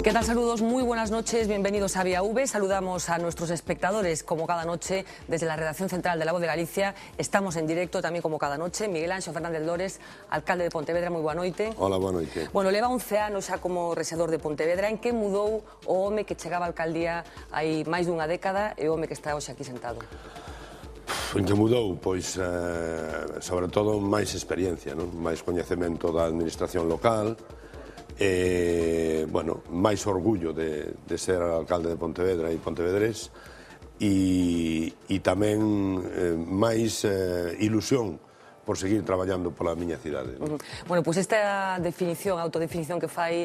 ¿Qué tal? Saludos, muy buenas noches, bienvenidos a Vía V. Saludamos a nuestros espectadores como cada noche desde la redacción central de La Voz de Galicia. Estamos en directo tamén como cada noche. Miguel Anxo Fernández Lores, alcalde de Pontevedra, moi boa noite. Hola, boa noite. Bueno, leva 11 anos xa como rexedor de Pontevedra. En que mudou o home que chegaba á alcaldía hai máis dunha década e o home que está hoxe aquí sentado? En que mudou? Pois, sobre todo, máis experiencia, non? Máis coñecemento da administración local, bueno, máis orgullo de ser alcalde de Pontevedra e pontevedrés e tamén máis ilusión por seguir traballando pola miña cidade. Bueno, pois esta definición, autodefinición que fai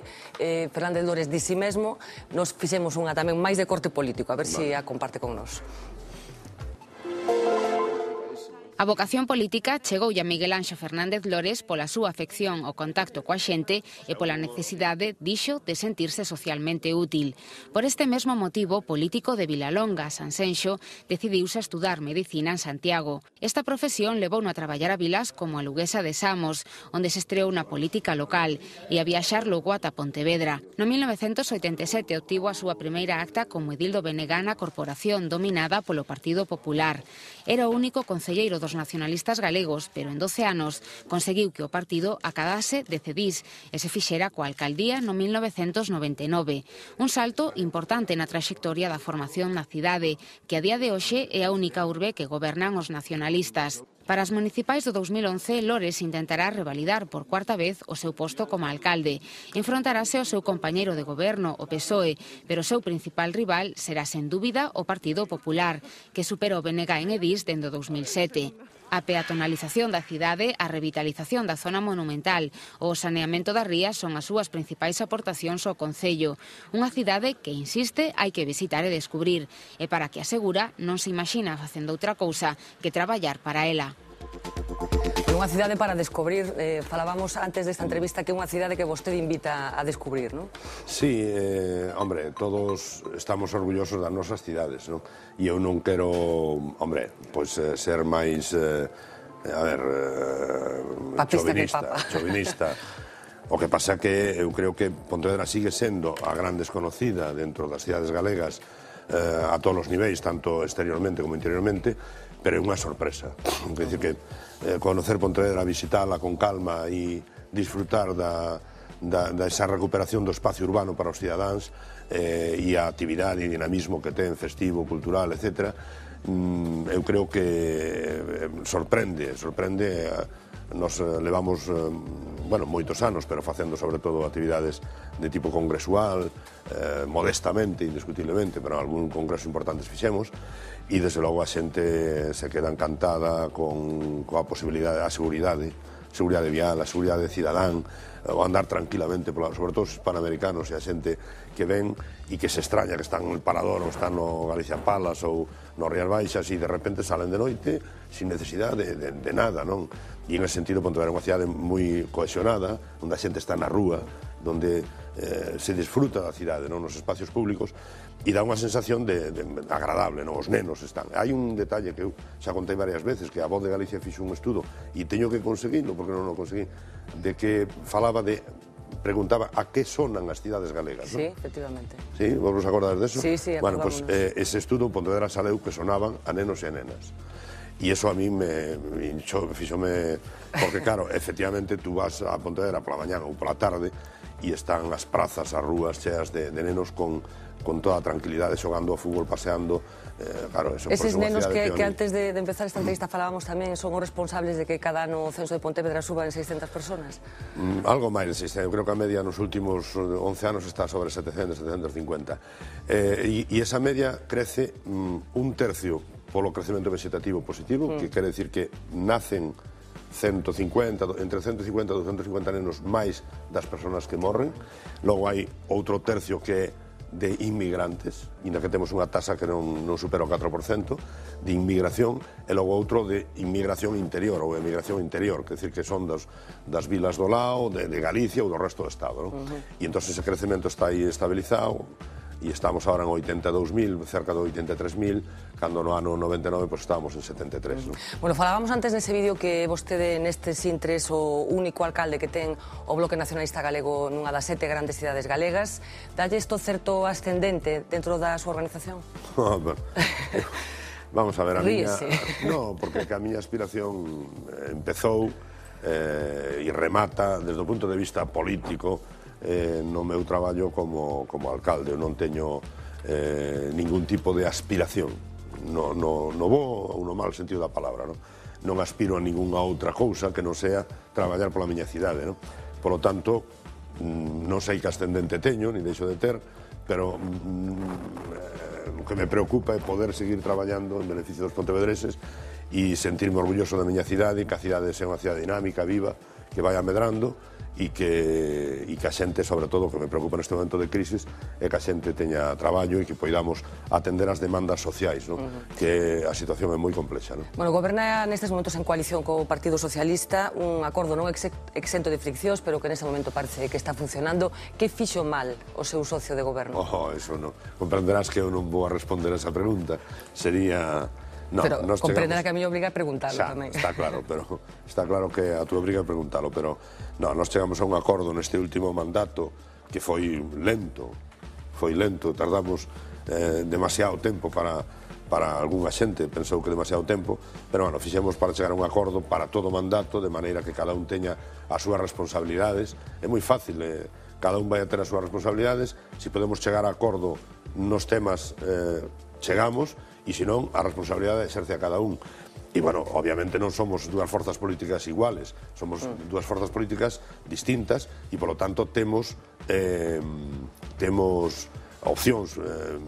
Fernández Lores de si mesmo, nos fixemos unha tamén máis de corte político, a ver se a comparte con nós. A vocación política chegoulle a Miguel Anxo Fernández Lores pola súa afección ao contacto coa xente e pola necesidade, dixo, de sentirse socialmente útil. Por este mesmo motivo, político de Vilalonga, Sanxenxo, decidiuse a estudar medicina en Santiago. Esta profesión levouno a traballar a vilas como a luguesa de Samos, onde se estreou na política local, e a viaxar logo ata Pontevedra. No 1987 obtivo a súa primeira acta como edildo Benegá na corporación dominada polo Partido Popular. Era o único concelleiro dos nacionalistas galegos, pero en 12 anos conseguiu que o partido acadase de Cedís e se fixera coa alcaldía no 1999. Un salto importante na traxectoria da formación na cidade, que a día de hoxe é a única urbe que gobernan os nacionalistas. Para as municipais do 2011, Lores intentará revalidar por cuarta vez o seu posto como alcalde. Enfrontarase ao seu compañeiro de goberno, o PSOE, pero o seu principal rival será, sen dúbida, o Partido Popular, que superou Benegá en Edís dende o 2007. A peatonalización da cidade, a revitalización da zona monumental ou o saneamento das rías son as súas principais aportacións ao concello. Unha cidade que, insiste, hai que visitar e descubrir, e para que asegura non se imagina facendo outra cousa que traballar para ela. Unha cidade para descubrir, falábamos antes desta entrevista que é unha cidade que vostede invita a descubrir, non? Sí, hombre, todos estamos orgullosos das nosas cidades, non? E eu non quero, hombre, pois ser máis, chauvinista. O que pasa que eu creo que Pontevedra sigue sendo a gran desconocida dentro das cidades galegas a todos os niveis, tanto exteriormente como interiormente, pero é unha sorpresa. Quer dizer que conocer Pontevedra, visitala con calma e disfrutar desa recuperación do espacio urbano para os cidadáns e a actividade e dinamismo que ten, festivo, cultural, etc. Eu creo que sorprende. Nos levamos, bueno, moitos anos, pero facendo sobre todo actividades de tipo congresual, modestamente, indiscutiblemente, pero algún congreso importantes fixemos, e desde logo a xente se queda encantada coa posibilidade, a seguridade vial, a seguridade cidadán, o andar tranquilamente, sobre todo os panamericanos e a xente que ven e que se extraña que están no Parador ou están no Galicia Palace ou no Rías Baixas e de repente salen de noite sin necesidade de nada, non? E en ese sentido Pontevedra é unha cidade moi cohesionada, onde a xente está na rúa, onde se disfruta da cidade, non? Nos espacios públicos, e dá unha sensación agradable, non? Os nenos están. Hai un detalle que eu xa contei varias veces, que a Voz de Galicia fixo un estudo, e teño que conseguirlo, porque non o conseguí, de que preguntaba a que sonan as cidades galegas, non? Sí, efectivamente. Sí, vos vos acordades deso? Sí, bueno, pues ese estudo Pontevedra saleu que sonaban a nenos e a nenas. E iso a mí me fixome, porque claro, efectivamente tú vas a Pontevedra pola mañana ou pola tarde e están as prazas, as rúas cheas de nenos con toda a tranquilidade, xogando ao fútbol, paseando, claro, eso. Eses nenos que antes de empezar esta entrevista falábamos tamén son os responsables de que cada ano o censo de Pontevedra suba en 600 personas? Algo máis de 600, eu creo que a media nos últimos 11 anos está sobre 700, 750. E esa media crece un tercio polo crecemento vegetativo positivo, que quere decir que nacen entre 150 e 250 nenos máis das persoas que morren. Logo hai outro tercio que é de inmigrantes, inda que temos unha tasa que non supera o 4% de inmigración, e logo outro de inmigración interior ou emigración interior, que decir que son das vilas do Lao, de Galicia ou do resto do Estado, non? E entón ese crecemento está aí estabilizado e estamos ahora en 82.000, cerca de 83.000, cando no ano 99 pues estábamos en 73. ¿no? Bueno, falábamos antes nese vídeo que vostede nestes intres o único alcalde que ten o Bloque Nacionalista Galego nunha das 7 grandes cidades galegas. Dalle isto certo ascendente dentro da súa organización? Vamos a ver, a miña... Ríese. No, porque a miña aspiración empezou e remata desde o punto de vista político no meu traballo como alcalde. Eu non teño ningún tipo de aspiración, no bo ou no mal sentido da palabra. Non aspiro a ningunha outra cousa que non sea traballar pola miña cidade. Polo tanto, non sei que ascendente teño, ni deixo de ter, pero o que me preocupa é poder seguir traballando en beneficio dos pontevedreses e sentirme orgulloso da miña cidade, que a cidade sea unha cidade dinámica, viva, que vai medrando e que a xente, sobre todo, o que me preocupa neste momento de crisis é que a xente teña traballo e que poidamos atender as demandas sociais, que a situación é moi complexa. Bueno, goberna nestes momentos en coalición co Partido Socialista, un acordo non exento de friccións, pero que nese momento parece que está funcionando. Que fixo mal o seu socio de goberno? Eso non. Comprenderás que eu non vou a responder a esa pregunta. Sería... No, pero comprenderá que a mí obriga a preguntarlo tamén. Está claro, pero está claro que a tú obriga a preguntarlo, pero no, nos chegamos a un acordo neste último mandato que foi lento, tardamos demasiado tempo para algunha xente, pensou que demasiado tempo, pero bueno, fixemos para chegar a un acordo para todo o mandato, de maneira que cada un teña as súas responsabilidades. É moi fácil, cada un vai a ter as súas responsabilidades, se podemos chegar a acordo nos temas chegamos, e senón a responsabilidade exerce a cada un. E, bueno, obviamente non somos dúas forzas políticas iguales, somos dúas forzas políticas distintas e, polo tanto, temos opcións,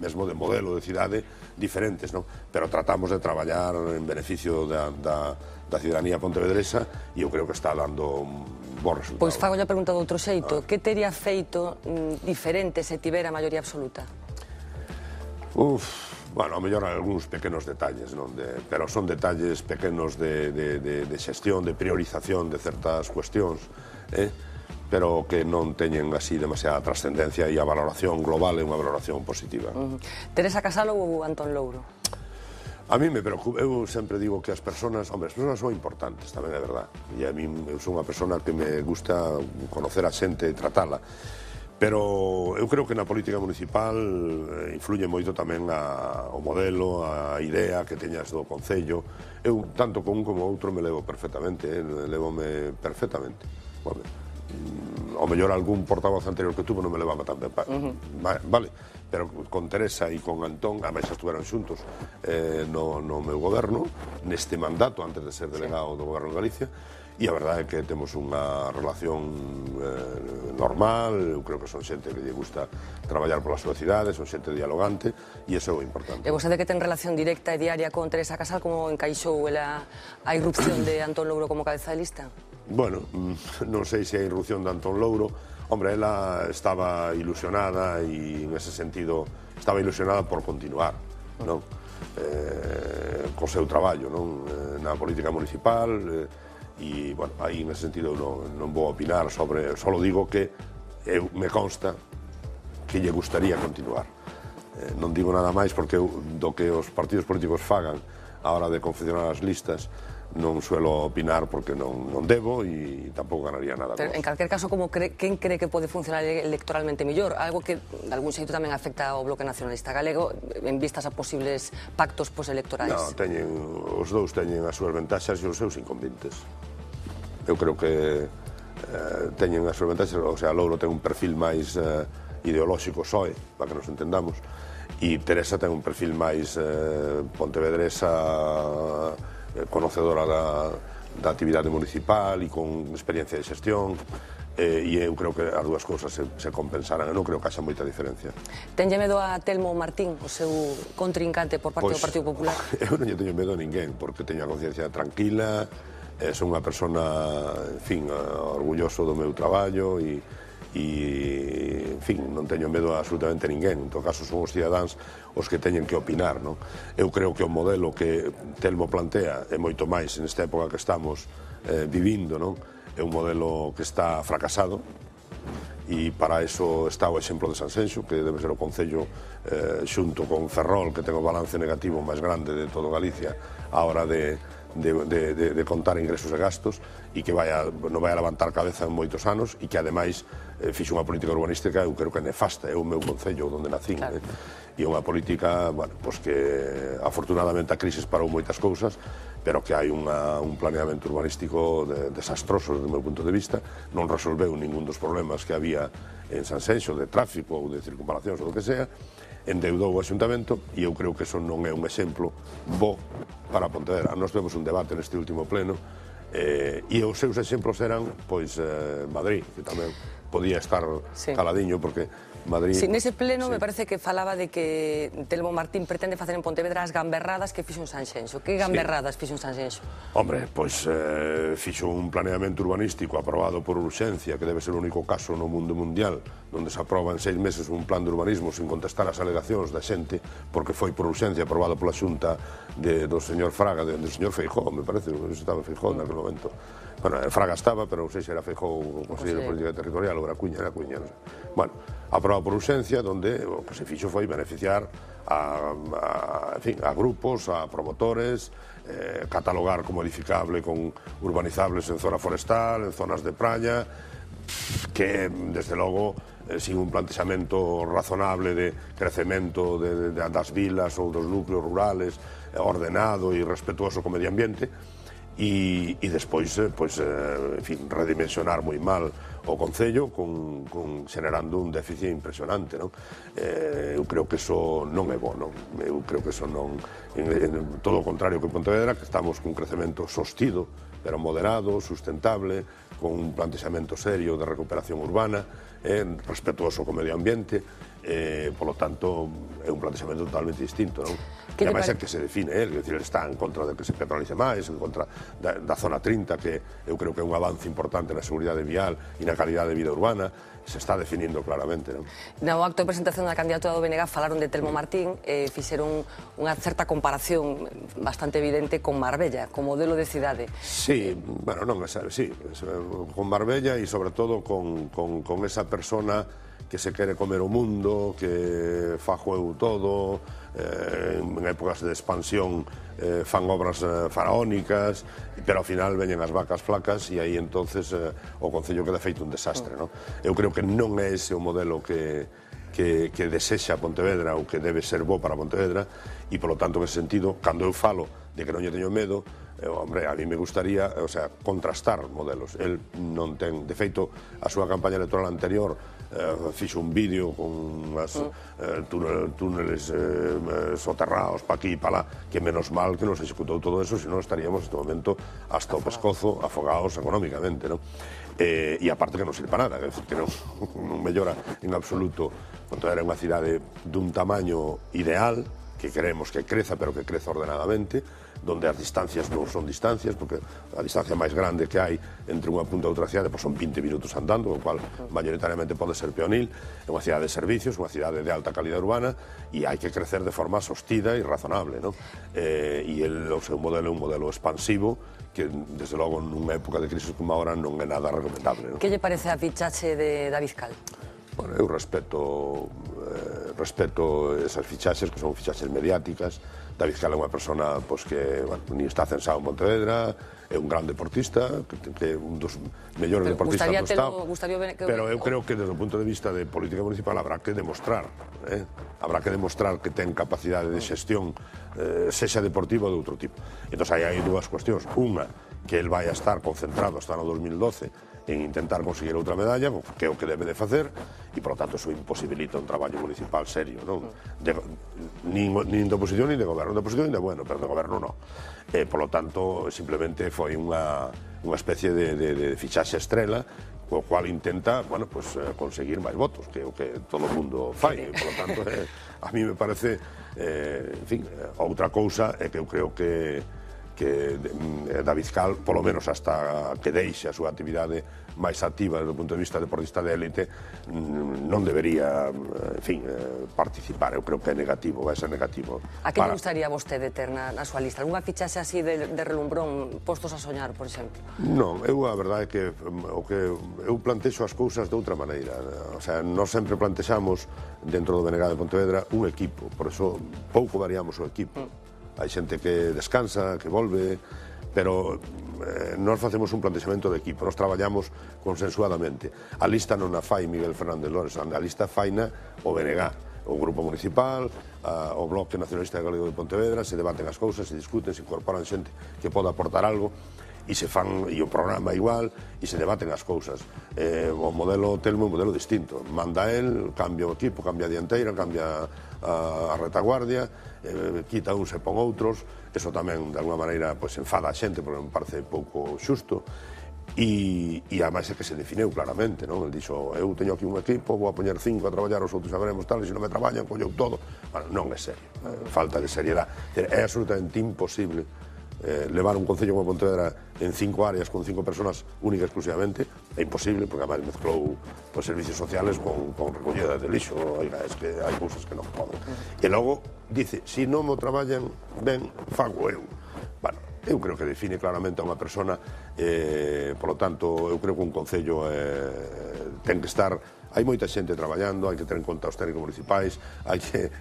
mesmo de modelo de cidade, diferentes, non? Pero tratamos de traballar en beneficio da ciudadanía pontevedresa e eu creo que está dando bons resultados. Pois fago a pregunta de outro xeito. Que teria feito diferente se tivera maioría absoluta? Bueno, a mellor algúns pequenos detalles, pero son detalles pequenos de xestión, de priorización de certas cuestións, pero que non teñen así demasiada trascendencia e a valoración global é unha valoración positiva. Teresa Casalo ou Antón Louro? A mí me preocupa, eu sempre digo que as persoas son importantes, tamén é verdad, e a mí eu son unha persona que me gusta conocer a xente e tratala. Pero eu creo que na política municipal influye moito tamén o modelo, a idea que teñas do Concello. Eu, tanto con un como outro, me levo perfectamente, levome perfectamente. O mellor algún portavoz anterior que tuvo non me levaba tan ben. Vale, pero con Teresa e con Antón, ademais estuveron xuntos no meu goberno, neste mandato, antes de ser delegado do goberno de Galicia, e a verdade é que temos unha relación normal. Eu creo que son xente que lle gusta traballar pola súa cidade, son xente dialogante e iso é o importante. E vostede que ten relación directa e diaria con Teresa Casal, como encaixou ela a irrupción de Antón Louro como cabeza de lista? Bueno, non sei se a irrupción de Antón Louro, hombre, ela estaba ilusionada e en ese sentido estaba ilusionada por continuar, non? Co seu traballo, non? Na política municipal. E, bueno, aí nese sentido non vou opinar sobre, só digo que me consta que lle gustaría continuar. Non digo nada máis porque do que os partidos políticos fagan a hora de confeccionar as listas non suelo opinar porque non debo e tampouco ganaría nada. Pero, en calquer caso, quen cree que pode funcionar electoralmente mellor? Algo que, de algún xeito, tamén afecta ao Bloque Nacionalista Galego en vistas a posibles pactos postelectorais. Non, os dous teñen as súas ventaxas e os seus inconvenientes. Eu creo que teñen as súas ventaxas, o sea, Louro ten un perfil máis ideolóxico soe, para que nos entendamos, e Teresa ten un perfil máis pontevedresa, conocedora da actividade municipal e con experiencia de xestión, e eu creo que as dúas cousas se compensaran. Eu non creo que haxa moita diferencia. Tenlle medo a Telmo Martín, o seu contrincante por parte do Partido Popular? Eu non lle teño medo a ninguén, porque teño a conciencia tranquila, son unha persona, en fin, orgulloso do meu traballo e, en fin, non teño medo a absolutamente ninguén. En todo caso, son os cidadáns os que teñen que opinar, non? Eu creo que o modelo que Telmo plantea é moito máis nesta época que estamos vivindo, non? É un modelo que está fracasado e para eso está o exemplo de Sanxenxo, que debe ser o concello xunto con Ferrol, que ten o balance negativo máis grande de todo Galicia á hora de contar ingresos e gastos, e que non vai a levantar cabeza en moitos anos, e que ademais fixo unha política urbanística, eu creo que nefasta, é o meu concello onde nacín, e unha política, bueno, pois que afortunadamente a crisis parou moitas cousas, pero que hai un planeamento urbanístico desastroso desde o meu punto de vista, non resolveu ningún dos problemas que había en Sanxenxo de tráfico ou de circunvalacións ou do que sea, endeudou o Axuntamento, e eu creo que eso non é un exemplo bo para Pontevedra. Nós temos un debate neste último pleno, e os seus exemplos eran, pois, Madrid, que tamén podía estar caladiño, porque Madrid... Sí, nese pleno me parece que falaba de que Telmo Martín pretende facer en Pontevedra as gamberradas que fixo en Sanxenxo. Que gamberradas fixo en Sanxenxo? Hombre, pois fixo un planeamento urbanístico aprobado por urxencia, que debe ser o único caso no mundo mundial onde se aproba en 6 meses un plan de urbanismo sin contestar as alegacións da xente, porque foi por urxencia aprobado pola Xunta do señor Fraga, do señor Feijóo, me parece, non estaba Feijóo naquele momento. Bueno, Fraga estaba, pero non sei se era Feijóo o Conselleiro de Política Territorial ou era Cuña, non sei. Bueno, aprobado por urxencia, onde o que se fixo foi beneficiar a grupos, a promotores, catalogar como edificable con urbanizables en zona forestal, en zonas de praia, que, desde logo, sin un plantexamento razonable de crecemento das vilas ou dos núcleos rurales, ordenado e respetuoso co medio ambiente, e despois, en fin, redimensionar moi mal o Concello, generando un déficit impresionante, non? Eu creo que eso non é bo, non? Eu creo que eso non... Todo o contrario que Pontevedra, que estamos cun crecemento sostido, pero moderado, sustentable, con un plantexamento serio de recuperación urbana, respetuoso co medio ambiente, polo tanto, é un plantexamento totalmente distinto, non? E ademais é que se define, é dicir, está en contra de que se petrolice máis, en contra da zona 30, que eu creo que é un avance importante na seguridade vial e na calidade de vida urbana, se está definindo claramente, non? No acto de presentación da candidatura do BNG falaron de Telmo Martín, fixeron unha certa comparación bastante evidente con Marbella, como modelo de cidade. Sí, bueno, non, sí, con Marbella e sobre todo con esa persona que se quere comer o mundo, que fajo eu todo, en épocas de expansión fan obras faraónicas, pero ao final veñen as vacas flacas e aí entonces o Concello queda feito un desastre, non? Eu creo que non é ese o modelo que desexa Pontevedra ou que debe ser bo para Pontevedra, e polo tanto, en ese sentido, cando eu falo de que non lle teño medo, hombre, a mí me gustaría, o sea, contrastar modelos. El non ten, de feito, a súa campaña electoral anterior fixo un vídeo con unhas túneles soterrados pa aquí e pa lá, que menos mal que nos executou todo eso, senón estaríamos neste momento hasta o pescozo afogados económicamente, non? E aparte que non sirve para nada, que non mellora en absoluto. Pontevedra é unha cidade dun tamaño ideal, que queremos que creza, pero que creza ordenadamente, donde as distancias non son distancias, porque a distancia máis grande que hai entre unha punta e outra cidade son 20 minutos andando, o cual mayoritariamente pode ser peonil. É unha cidade de servicios, unha cidade de alta calidad urbana, e hai que crecer de forma sostida e razonable, non? E o seu modelo é un modelo expansivo, que, desde logo, nunha época de crisis como agora, non é nada recomendable, non? Que lle parece a fichaxe de David Cal? Bueno, eu respeto esas fichaxes, que son fichaxes mediáticas. David Cal é unha persona que ni está censado en Pontevedra, é un gran deportista, que é un dos mellores deportistas do Estado, pero eu creo que desde o punto de vista de política municipal habrá que demostrar que ten capacidade de xestión, sexa deportivo ou de outro tipo. Entón, hai dúas cuestións. Unha, que el vai a estar concentrado hasta no 2012 en intentar conseguir outra medalla, que é o que debe de facer, e, por lo tanto, eso imposibilita un traballo municipal serio, non? Nin de oposición, nin de goberno. De oposición, nin de bueno, pero de goberno non. Por lo tanto, simplemente foi unha especie de fichaxe estrela, co cual intenta, bueno, pues, conseguir máis votos, que é o que todo o mundo fai. Por lo tanto, a mí me parece, en fin, outra cousa é que eu creo que David Cal, polo menos hasta que deixe a súa actividade máis activa desde o punto de vista deportista de élite, non debería, en fin, participar. Eu creo que é negativo, vai ser negativo. A que lle gustaría vostede ter na súa lista? Algúnha fichaxe así de relumbrón, postos a soñar, por exemplo? Non, a verdade é que eu plantexo as cousas de outra maneira. O sea, nós sempre plantexamos dentro do BNG de Pontevedra un equipo, por eso pouco variamos o equipo. Hai xente que descansa, que volve, pero nós facemos un plantexamento de equipo, nós traballamos consensuadamente. A lista non a fai Miguel Fernández Lores, a lista faina o BNG, o Grupo Municipal, o Bloque Nacionalista Galego de Pontevedra, se debaten as cousas, se discuten, se incorporan xente que poda aportar algo, e se fan, e o programa igual, e se debaten as cousas. O modelo Telmo é un modelo distinto. Manda el, cambia o equipo, cambia a dianteira, cambia a retaguardia, quita uns e pon outros. Eso tamén, de alguma maneira, enfada a xente, porque me parece pouco xusto. E ademais é que se definiu claramente, non? El dixo, eu teño aquí un equipo, vou a poñer 5 a traballar, os outros xa veremos tal, e se non me traballan, colleu todo. Bueno, non é serio, falta de seriedade. É absolutamente imposible levar un concello como Pontevedra en 5 áreas con 5 personas única e exclusivamente. É imposible, porque además mezclou servicios sociales con recollida de lixo. Oiga, es que hai cousas que non poden. E logo dice, se non mo traballan ben, fago eu. Bueno, eu creo que define claramente a unha persona, polo tanto, eu creo que un concello ten que estar. Hai moita xente traballando, hai que ter en conta os técnicos municipais, hai que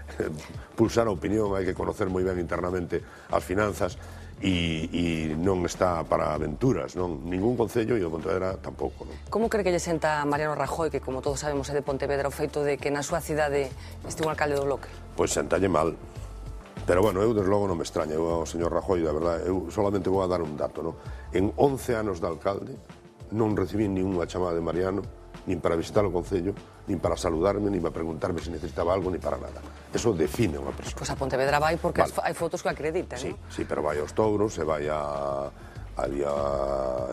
pulsar a opinión, hai que conocer moi ben internamente as finanzas, e non está para aventuras, non? Ningún concello e o Pontevedra tampouco, non? Como cree que lle senta a Mariano Rajoy, que como todos sabemos é de Pontevedra, o feito de que na súa cidade este un alcalde do Bloque? Pois sentalle mal. Pero, bueno, eu desde logo non me extraña. Eu ao señor Rajoy, da verdade, eu solamente vou a dar un dato, non? En 11 anos de alcalde non recibí ninguna chamada de Mariano, nin para visitar o concello, nin para saludarme, nin para preguntarme se necesitaba algo, nin para nada. Eso define unha persona. Pois a Pontevedra vai porque hai fotos que acreditan, non? Sí, Sí, pero vai aos touros, e vai en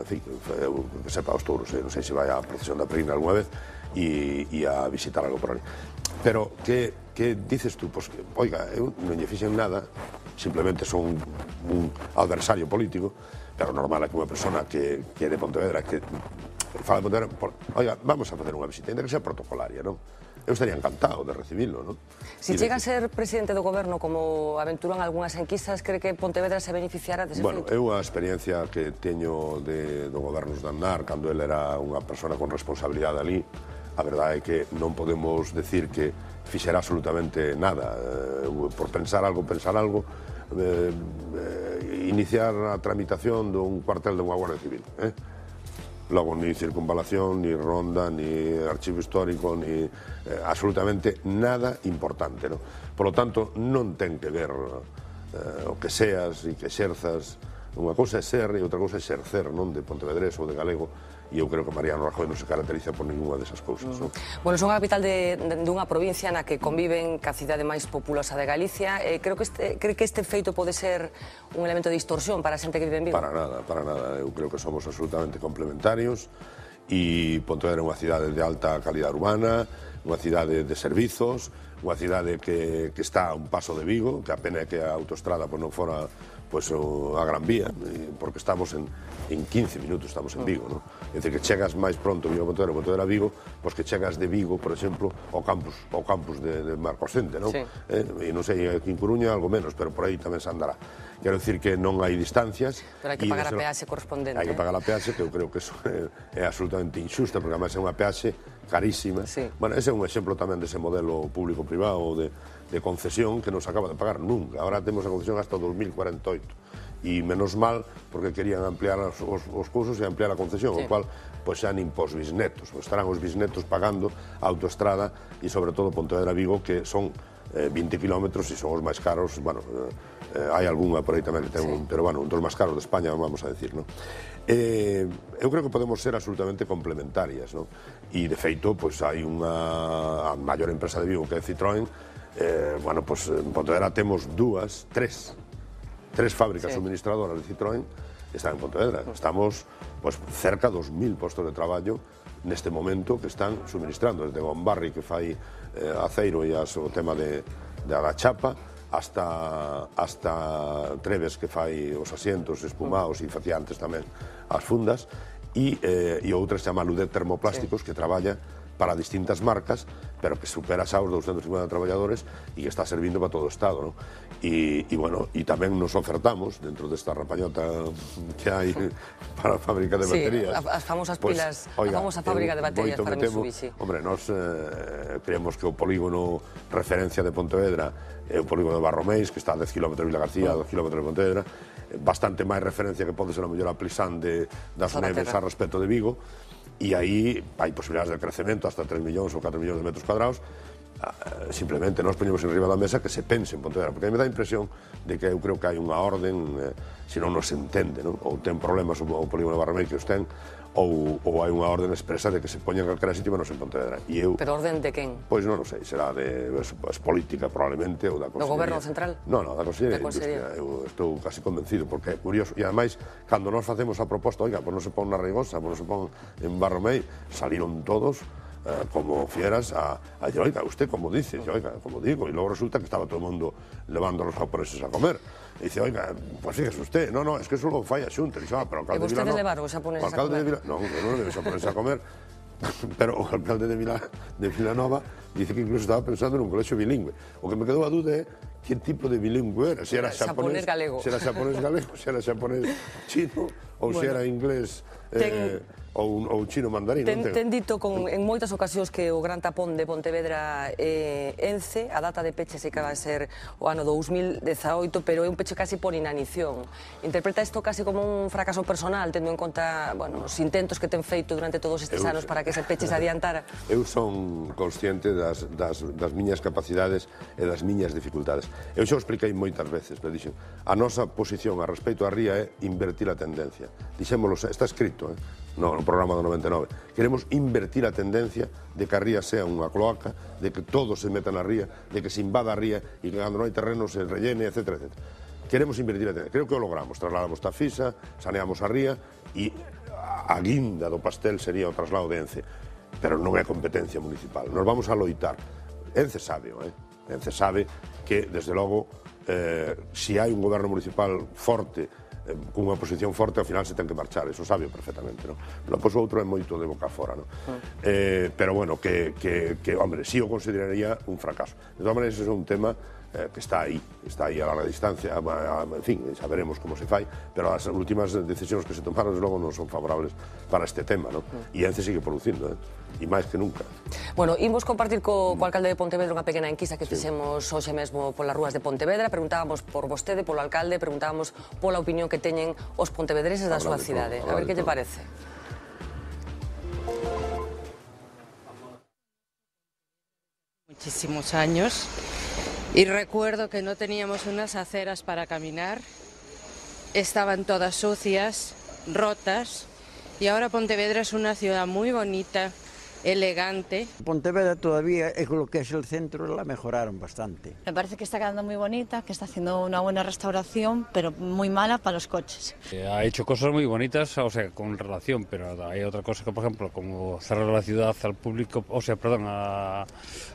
fin, que sepa aos touros, non sei se vai á procesión da Peregrina algunha vez, e a visitar algo por ali. Pero, que dices tú? Pois, oiga, eu non lle fixen nada, simplemente son un adversario político, pero normal é que unha persona que é de Pontevedra, que fala de Pontevedra, oiga, vamos a facer unha visita, ainda que sea protocolaria, non? Eu estaría encantado de recibirlo, non? Si chega a ser presidente do goberno, como aventuran algunhas enquisas, cree que Pontevedra se beneficiará dese feito? Bueno, eu a experiencia que teño do gobernos de Aznar, cando ele era unha persona con responsabilidade ali, a verdade é que non podemos decir que fixera absolutamente nada. Por pensar algo, iniciar a tramitación dun cuartel de unha Guardia Civil, logo ni circunvalación, ni ronda, ni archivo histórico, ni absolutamente nada importante, non? Por lo tanto, non ten que ver o que seas e que exerzas. Unha cousa é ser e outra cousa é exercer, non? De pontevedrés ou de galego, e eu creo que Mariano Rajoy non se caracteriza por ninguna desas cousas, non? Bueno, son a capital dunha provincia na que conviven ca cidade máis populosa de Galicia. Cree que este feito pode ser un elemento de distorsión para a xente que vive en Vigo? Para nada, para nada. Eu creo que somos absolutamente complementarios, e Pontevedra é unha cidade de alta calidad urbana, unha cidade de servizos, unha cidade que está a un paso de Vigo, que a pena é que a autoestrada non fora a Gran Vía, porque estamos en 15 minutos estamos en Vigo, non? É dicir, que chegas máis pronto Vigo a Pontevedra a Vigo, pois que chegas de Vigo, por exemplo, ao campus de Marcos Cente, non? E non sei, aquí en Coruña algo menos, pero por aí tamén se andará. Quero dicir que non hai distancias. Pero hai que pagar a peaxe correspondente. Hai que pagar a peaxe, que eu creo que eso é absolutamente injusta, porque además é unha peaxe carísima. Bueno, ese é un exemplo tamén dese modelo público-privado de concesión que non se acaba de pagar nunca. Ahora temos a concesión hasta 2048. E menos mal, porque querían ampliar os cursos e ampliar a concesión, o cual xa nin pos bisnetos. Estarán os bisnetos pagando a autoestrada e, sobre todo, Pontevedra-Vigo, que son 20 kilómetros e son os máis caros. Bueno, hai algunha por aí tamén que ten pero, bueno, un dos máis caros de España, vamos a decir, non? Eu creo que podemos ser absolutamente complementarias, non? E, de feito, hai unha maior empresa de Vigo que é Citroën. Bueno, en Pontevedra temos tres fábricas suministradoras de Citroën que están en Pontevedra. Estamos cerca dos 1000 postos de traballo neste momento que están suministrando, desde Gombarri, que fai aceiro e o tema da chapa, hasta Treves, que fai os asientos espumados e facía antes tamén as fundas, e outra se chama Ludet Termoplásticos, que traballa para distintas marcas, pero que supera xa os 250 traballadores e que está servindo para todo o Estado, non? E tamén nos ofertamos, dentro desta rapañota que hai para a fábrica de baterías... Sí, as famosas pilas, a famosa fábrica de baterías para Mitsubishi. Hombre, nós creemos que o polígono referencia de Pontevedra é o polígono de Barromeis, que está a 10 km de Vila García, a 2 km de Pontevedra, bastante máis referencia que pode ser a mellor a Plisán das Neves a respecto de Vigo, e aí hai posibilidades de crecemento hasta 3 millóns ou 4 millóns de metros cuadrados. Simplemente nós poñemos en riba da mesa que se pense en Pontevedra, porque a mí me dá a impresión de que eu creo que hai unha orden, se non nos entende, non? Ou ten problemas o polígono de Barramei que os ten, ou hai unha orden expresa de que se poñan calquera sitio menos en Pontevedra. Pero orden de quen? Pois non o sei, será de política probablemente, ou da Consellería. Do Goberno Central? Non, da Consellería de Industria. Eu estou casi convencido, porque é curioso. E ademais, cando nós facemos a proposta, oiga, pois non se pon na Reigosa, pois non se pon en Barromei, saliron todos como fieras a decir, oiga, usted como dice, oiga, como digo, e logo resulta que estaba todo o mundo levando a los japoneses a comer. E dice, oiga, pues fíjese usted, no, es que eso lo falla Xunta. E vostedes levaron os japoneses a comer? Non, eu non levei os japoneses a comer, pero o alcalde de Vilanova dice que incluso estaba pensando en un colegio bilingüe. O que me quedou a duda é que tipo de bilingüe era, se era xaponés galego, se era xaponés chino, ou se era inglés ou chino mandarín. Ten dito en moitas ocasións que o gran tapón de Pontevedra é Ence, a data de peche se acaba de ser o ano 2018, pero é un peche casi por inanición. Interpreta isto casi como un fracaso personal, tendo en conta os intentos que ten feito durante todos estes anos para que ese peche se adiantara? Eu son consciente das miñas capacidades e das miñas dificultades. Eu xa o expliquei moitas veces, pero dixen, a nosa posición a respecto a ría é invertir a tendencia. Dixémolo, está escrito, no programa do 99. Queremos invertir a tendencia de que a ría sea unha cloaca, de que todo se meta na ría, de que se invada a ría e que cando non hai terreno se rellene, etc. Queremos invertir a tendencia. Creo que o logramos. Trasladamos Tafisa, saneamos a ría e a guinda do pastel sería o traslado de Ence. Pero non é competencia municipal. Nos vamos a loitar. Ence sabe, Ence sabe que, desde logo, se hai un goberno municipal forte, cunha posición forte, ao final se ten que marchar, eso sabe perfectamente, non? Pero pois o outro é moito de boca fora, non? Pero bueno, hombre, sí o consideraría un fracaso. De todas maneiras, ese é un tema que está aí a larga distancia, en fin, xa veremos como se fai, pero as últimas decisións que se tomaron, desde logo, non son favorables para este tema, non? E Ence sigue producindo, e máis que nunca. Bueno, imos compartir co alcalde de Pontevedra unha pequena enquisa que fixemos hoxe mesmo polas rúas de Pontevedra. Preguntábamos por vostede, polo alcalde, preguntábamos pola opinión que teñen os pontevedreses da súa cidade. A ver que lle parece. Muchísimos años. Y recuerdo que no teníamos unas aceras para caminar, estaban todas sucias, rotas, y ahora Pontevedra es una ciudad muy bonita, elegante. Pontevedra todavía, lo que es el centro, la mejoraron bastante. Me parece que está quedando muy bonita, que está haciendo una buena restauración, pero muy mala para los coches. Ha hecho cosas muy bonitas, o sea, con relación, pero hay otra cosa que, por ejemplo, como cerrar la ciudad al público, o sea, perdón, a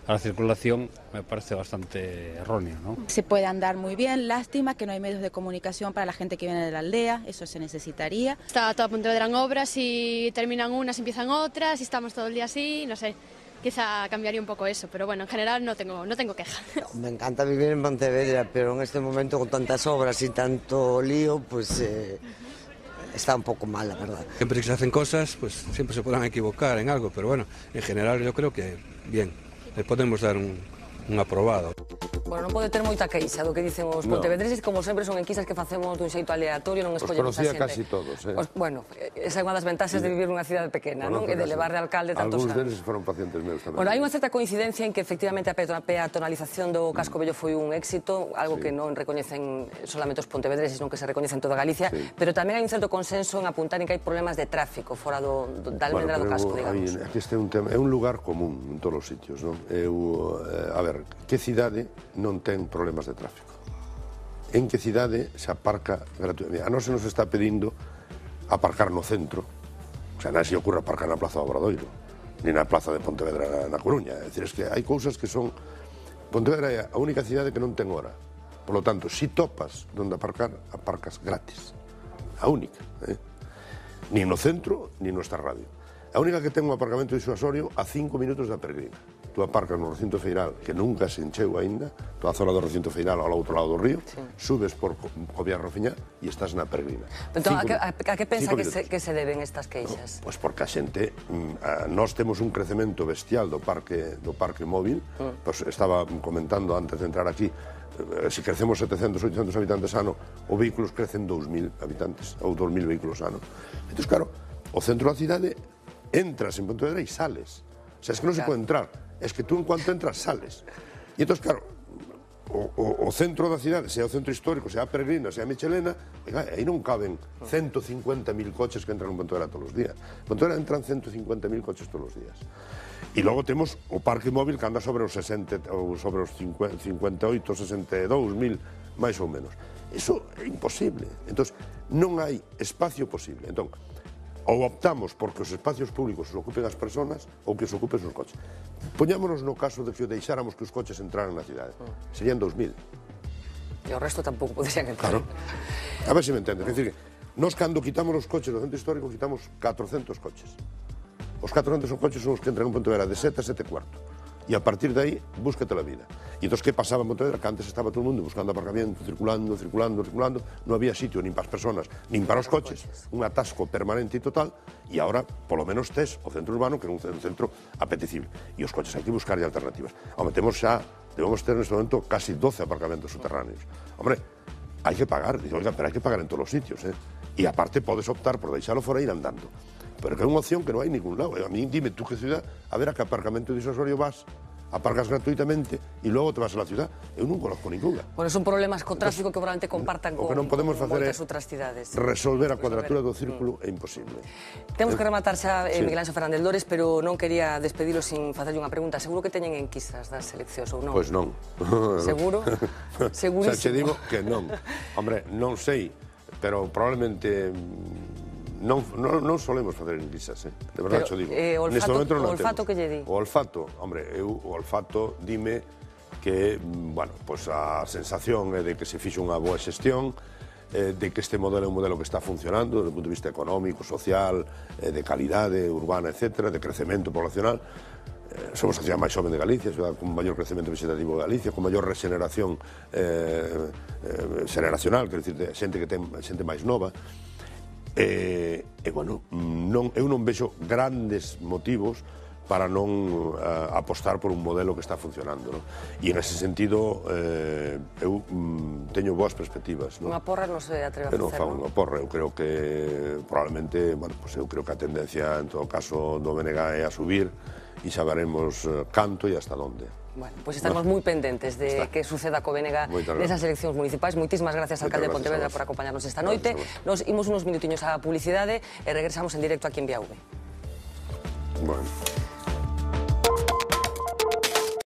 la circulación, me parece bastante erróneo, ¿no? Se puede andar muy bien, lástima que no hay medios de comunicación para la gente que viene de la aldea, eso se necesitaría. Está toda Pontevedra en obras y terminan unas, empiezan otras y estamos todo el día así, no sé, quizá cambiaría un poco eso, pero bueno, en general no tengo queja. Me encanta vivir en Pontevedra, pero en este momento con tantas obras y tanto lío, pues está un poco mal, la verdad. Siempre que se hacen cosas, pues siempre se podrán equivocar en algo, pero bueno, en general yo creo que bien, le podemos dar un aprobado. Bueno, non pode ter moita queixa do que dicen os pontevedreses, como sempre son enquisas que facemos dun xeito aleatorio, non escollemos a xente. Os conocía casi todos, Bueno, esa é unha das ventaxas de vivir nunha cidade pequena, non? E de levar de alcalde tantos anos. Algúns deles foron pacientes meus tamén. Bueno, hai unha certa coincidencia en que efectivamente a peatonalización do casco vello foi un éxito, algo que non recoñecen solamente os pontevedreses, non que se recoñece en toda Galicia, pero tamén hai un certo consenso en apuntar en que hai problemas de tráfico fora da almendra do casco, digamos. Este é un lugar común en todos os sitios, non? A ver, que cidade non ten problemas de tráfico? En que cidade se aparca gratuitamente? A nós se nos está pedindo aparcar no centro, o sea, non se ocurre aparcar na Plaza do Obradoiro, ni na Plaza de Pontevedra na Coruña. É dicir, es que hai cousas que son... Pontevedra é a única cidade que non ten hora. Por lo tanto, si topas donde aparcar, aparcas gratis. A única. Ni no centro, ni nuestra radio. A única que ten un aparcamento disuasorio a 5 minutos da Peregrina. Tú aparcas no recinto feiral, que nunca se encheu aínda, toda a zona do recinto feiral ao outro lado do río, subes por Cobiar Rofiñá e estás na Peregrina. Entón, a que pensa que se deben estas queixas? Pois porque a xente, nós temos un crecemento bestial do parque móvil, pois estaba comentando antes de entrar aquí, se crecemos 700, 800 habitantes ano, os vehículos crecen 2.000 habitantes, ou 2.000 vehículos ano. Entón, claro, o centro da cidade entras en Pontevedra e sales. O sea, es que non se pode entrar. Es que tú en cuanto entras, sales. E entón, claro, o centro da cidade, sea o centro histórico, sea a Peregrina, sea a Michelena, aí non caben 150.000 coches que entran en Pontevedra todos os días. En Pontevedra entran 150.000 coches todos os días. E logo temos o parque móvil que anda sobre os 60, ou sobre os 58, 62.000, máis ou menos. Iso é imposible. Entón, non hai espacio posible. Entón, ou optamos porque os espacios públicos os ocupen as persoas ou que os ocupen os coches. Poñámonos no caso de que o deixáramos que os coches entraran na cidade. Serían 2.000. E o resto tampouco poderían entrar. Claro. A ver se me entendes. É dicir, nós cando quitamos os coches do centro histórico, quitamos 400 coches. Os 400 coches son os que entran en Pontevedra de 7 a 7 cuarto. E a partir de aí, búscate la vida. E entón, que pasaba en Pontevedra? Que antes estaba todo o mundo buscando aparcamiento, circulando, non había sitio nin para as personas, nin para os coches, un atasco permanente e total, e agora, polo menos, tes o centro urbano, que é un centro apetecible. E os coches hai que buscarlle alternativas. Home, debemos ter neste momento casi 12 aparcamentos subterráneos. Hombre, hai que pagar, digo, oiga, pero hai que pagar en todos os sitios, E aparte podes optar por deixalo fora e ir andando. Pero que é unha opción que non hai ningún lado. A mí, dime tú que ciudad, a ver a que aparcamento disuasorio vas, aparcas gratuitamente e logo te vas a la ciudad. Eu non conozco ninguna. Bueno, son problemas co tráfico que probablemente compartan con moitas outras cidades. Resolver a cuadratura do círculo é imposible. Temos que rematar xa Miguel Anxo Fernández Lores, pero non quería despedilo sin facerlle unha pregunta. Seguro que teñen enquisas das eleccións ou non? Pois non. Seguro? Segurísimo. Xa che digo que non. Hombre, non sei, pero probablemente non solemos facer enquisas, de verdade xo digo. O olfato que lle di? O olfato, hombre, o olfato dime que, bueno, pois a sensación é de que se fixo unha boa xestión, de que este modelo é un modelo que está funcionando desde o punto de vista económico, social, de calidade urbana, etc., de crecemento poblacional. Somos a cidade máis xoven de Galicia, a cidade con maior crecemento vegetativo de Galicia, con maior regeneración generacional, quer dicir, xente que ten xente máis nova. Bueno, eu non vexo grandes motivos para non apostar por un modelo que está funcionando, e en ese sentido eu teño boas perspectivas. Unha porra non se atreve a facer, non? Eu non fago unha porra, eu creo que probablemente, bueno, pues eu creo que a tendencia en todo caso do BNG é a subir e xa veremos canto e hasta onde. Bueno, pois estaremos moi pendentes de que suceda co BNG nesas eleccións municipais. Moitísimas gracias, alcalde de Pontevedra, por acompañarnos esta noite. Nos imos unos minutiños á publicidade e regresamos en directo aquí en Vía V. Bueno.